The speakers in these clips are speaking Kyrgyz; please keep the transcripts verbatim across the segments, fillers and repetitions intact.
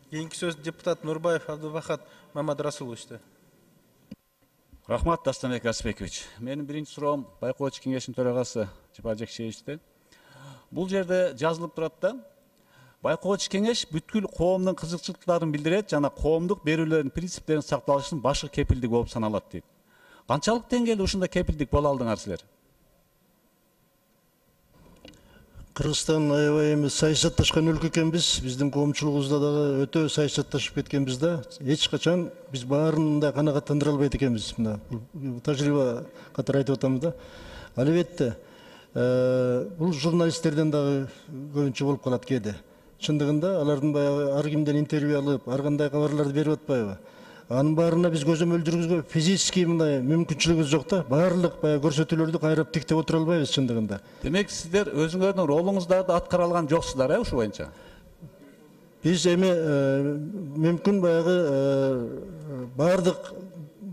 Кийинки сөз депутат Нурбаев Абдубахат Мамадрасуловичте. Рахмат, Дастанбек Асбекович. Менин биринчи суроом байкоочу кеңештин төрагасы Жапар Жекшеевичте. Бул жерде жазылып турат да, байкоочу кеңеш бүткүл коомдун кызыкчылыктарын билдирет жана коомдук берүүлөрдүн принциптерин сакталышынын башкы кепилдиги болуп саналат дейт. Канчалык деңгээлде ушундай кепилдик боло алдыңар силер? Кыргызстан аябай эми саясатташкан өлкө экенбиз. Биздин коомчулугубузда дагы өтө саясатташып кеткенбиз да. Эч качан биз баарын да канааттандыра албайт экенбиз. Мына тажрыйба катары айтып атам да. Албетте, бул журналисттерден дагы көбүнчө болуп калат кээде. Чындыгында алардын баягы ар кимден интервью алып, ар кандай кабарларды берип атпайбы? Анын баарына биз көзөмөл жүргүзгө физически мындай мүмкүнчүлүгүбүз жок да. Баардык баягы көрсөтүүлөрдү кайрап тиктеп отура албайбыз чындыгында. Демек сиздер өзүңөрдүн ролуңуздарды аткара алган жоксуздар, э, ушу боюнча? Биз эми мүмкүн баягы баардык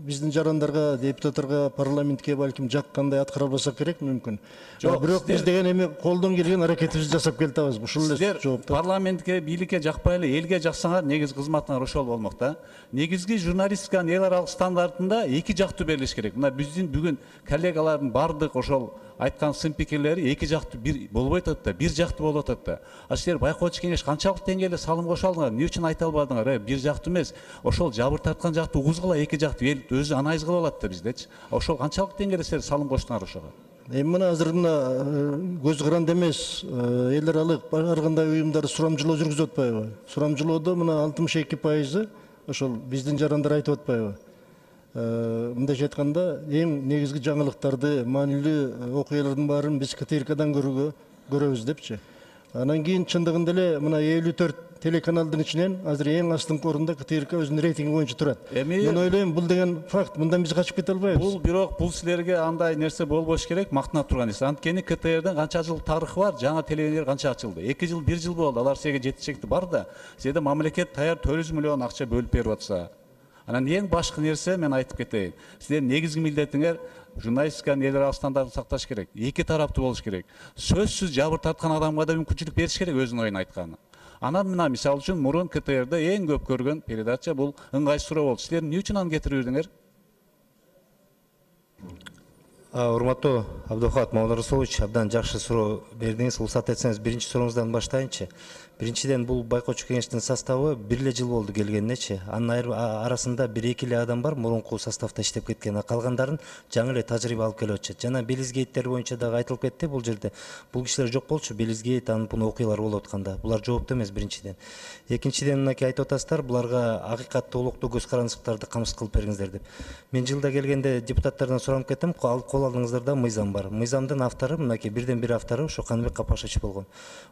биздин жарандарга, депутаттарга, парламентке балким жаккандай аткара албасак керек мүмкүн. Бирок биз деген эми колдон келген аракетибизди жасап келатабыз. Ушул эле жооп. Парламентке, бийликке жакпай эле элге жаксаңар, негизи кызматыңар ошол болмок да. Негизги журналистиканын эл аралык стандартында эки жактуу берилиш керек. Мына биздин бүгүн коллегалардын бардык ошол айткан сын пикирлери эки жактуу бир болбой атат да, бир жактуу болуп атат да. А силер байкоочу кеңеш канчалык деңгээлде салым кошо алдыңар? Эмне үчүн айта албадыңар? Э, бир жактуу эмес, ошол жабыр тарткан жактуу угузгула эки жактуу эл өзү анализ кылып алат да биздечи. Ошол канчалык деңгээлде силер салым коштуңар ошого? Эми мына азыр мына көз каранды эмес, эл аралык ар кандай уюмдар сурамжылоо жүргүзүп атпайбы? Сурамжылоодо мына алтымыш эки пайызы ошол биздин жарандар айтып атпайбы? Мындайча айтканда, эң негизги жаңылыктарды, маанилүү окуялардын баарын биз КТРКдан көрүүгө көрөбүз депчи. Анан кийин чындыгында эле мына элүү төрт телеканалдын ичинен азыр эң астыңкы орунда КТРК өзүнүн рейтинги боюнча турат. Мен ойлойм, бул деген факт, мындан биз качып кете албайбыз. Бул бирок бул силерге андай нерсе болбош керек, мактана турган нерсе. Анткени КТРдин канча жыл тарыхы бар, жаңа телевизор канча ачылды? эки жыл, бир жыл болду. Алар силерге жетишекти бар да. Силерде мамлекет даяр төрт жүз миллион акча бөлүп берип атса. Анан эң башкы нерсе мен айтып кетейин. Сиздердин негизги милдетиңер журналистиканын эл аралык стандартын сакташ керек. Эки тараптуу болуш керек. Сөзсүз жабыр тарткан адамга да мүмкүнчүлүк бериш керек өзүнүн оюн айтканы. Анан мына мисалы үчүн мурун КТРде эң көп көргөн передача бул ыңгай суроо болду. Силер эмне үчүн аны кетирип жүрдүңөр? Урматтуу Абдухат Мамадрасулович, абдан жакшы суроо бердиңиз. Уруксат этсеңиз биринчи сурооңуздан баштайынчы. Биринчиден бул байкоочу кеңештин составы бир эле жыл болду келгенинечи. Анын арасында бир эки эле адам бар мурунку составда иштеп кеткен. Калгандарын жаңы эле тажрыйба алып келип атышат. Жана Белизгейттер боюнча дагы айтылып кетти бул жерде. Бул кишилер жок болчу, Белизгейт анын бул окуялар болуп атканда. Булар жооптуу эмес биринчиден. Экинчиден мынакей айтып атасыздар, буларга акыйкатты улуктуу көз карандылыктарды камсыз кылып бергиңиздер деп. Мен жылда келгенде депутаттардан суранып кеттим, кол алдыңыздарда мыйзам бар. Мыйзамдын автору мынакей бирден бир автору ошо Каныбек Капашевич болгон.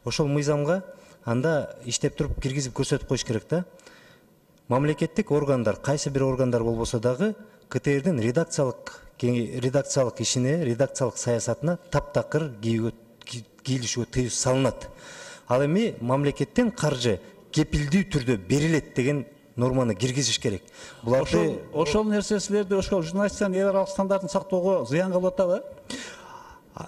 Ошол мыйзамга анда иштеп туруп киргизип көрсөтүп коюш керек да. Мамлекеттик органдар, кайсы бир органдар болбосо дагы КТРдин редакциялык редакциялык ишине, редакциялык саясатына таптакыр кийлишүүгө тыюу салынат. Ал эми мамлекеттен каржы кепилдүү түрдө берилет деген норманы киргизиш керек. Буларды ошол нерсе силерде ошол журналистиканын эл аралык стандартын сактоого зыян кылып атабы?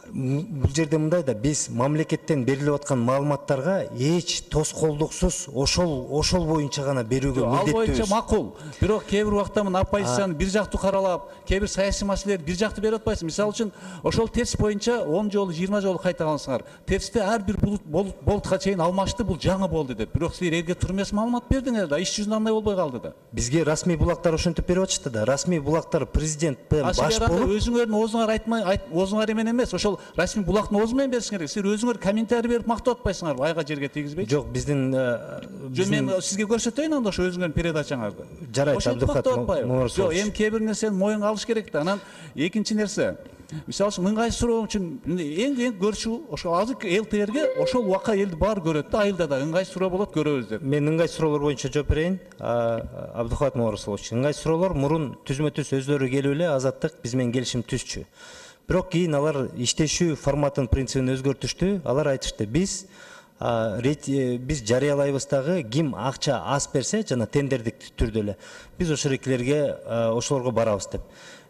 Бул жерде мындай да, биз мамлекеттен берилип аткан маалыматтарга эч тоскоолдуксуз ошол ошол боюнча гана берүүгө милдеттүүбүз. Ал боюнча макул. Бирок кээ бир убакта мына оппозицияны бир жактуу каралап, кээ бир саясий маселелерди бир жактуу берип атпайсың. Мисалы үчүн ошол текст боюнча он жолу, жыйырма жолу кайталансыңар. Текстте ар бир болутка чейин алмашты, бул жаңы болду деп. Бирок силер элге туруп эмес маалымат бердиңер да, иш жүзүндө андай болбой калды да. Бизге расмий булактар ошентип берип атышты да. Расмий булактар президенттен баш болуп, өзүңөрдүн оозуңар айтмай, оозуңар эмен эмес, ошол расмий булактын оозу менен беришиңер керек. Силер өзүңөр комментарий берип мактап атпайсыңарбы, айга жерге тийгизбейчи? Жок, биздин мен сизге көрсөтөйүн анда ошо өзүңөрдүн передачаңарды. Жарайт, Абдухат Мамадрасулович. Жок, эми кээ бир нерсени моюнга алыш керек да. Анан экинчи нерсе, мисалы үчүн ыңгай суроо үчүн эң эң көрчү ошол азыр ЛТРге ошол убакка элди баары көрөт да, айылда да ыңгай суроо болот, көрөбүз деп. Мен ыңгай суроолор боюнча жооп берейин. Абдухат Мамадрасулович, ыңгай суроолор мурун түзмө-түз өздөрү келип эле Азаттык биз менен келишим түзчү. Бирок кийин алар иштешүү форматын принцибин өзгөртүштү. Алар айтышты, биз биз жарыялайбыз дагы, ким акча аз берсе жана тендердик түрдө эле биз ошол экилерге ошолорго барабыз деп.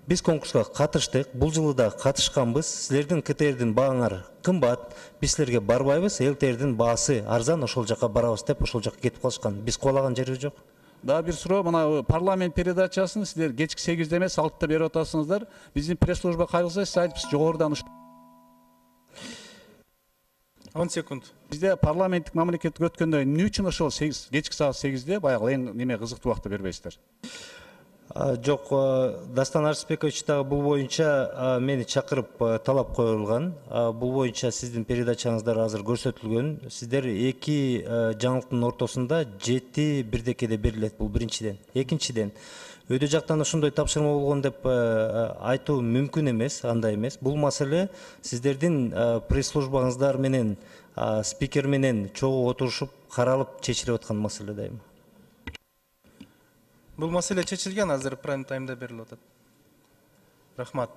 Биз конкурска катыштык, бул жылы да катышканбыз. Силердин КТРдин бааңар кымбат, биз силерге барбайбыз, ЛТРдин баасы арзан, ошол жака барабыз деп ошол жака кетип калышкан. Биз кубалаган жерибиз жок. Дагы бир суроо, мына парламент передачасын сиздер кечки сегизде эмес алтыда берип атасыңыздар. Биздин пресс служба кайрылса, сиз айтыпсыз жогорудан он секунд. бизде парламенттик мамлекеттик өткөндө эмне үчүн ошол сегиз кечки саат сегизде баягы эң неме кызыктуу убакытта бербейсиздер? А, Жок, а, Дастан Арсбекович дагы бул боюнча а, мени чакырып а, талап коюлган. А, Бул боюнча сиздин передачаңыздар азыр көрсөтүлгөн. Сиздер эки а, жаңылыктын ортосунда жети бирдекеде берилет, бул биринчиден. Экинчиден, өйдө жактан ошондой тапшырма болгон деп а, айтуу мүмкүн эмес, андай эмес. Бул маселе сиздердин а, пресс-службаңыздар менен а, спикер менен чогуу отурушуп каралып чечилип аткан маселе дайыма. Бул маселе чечилген, азыр прайм таймда берилип атат. Рахмат.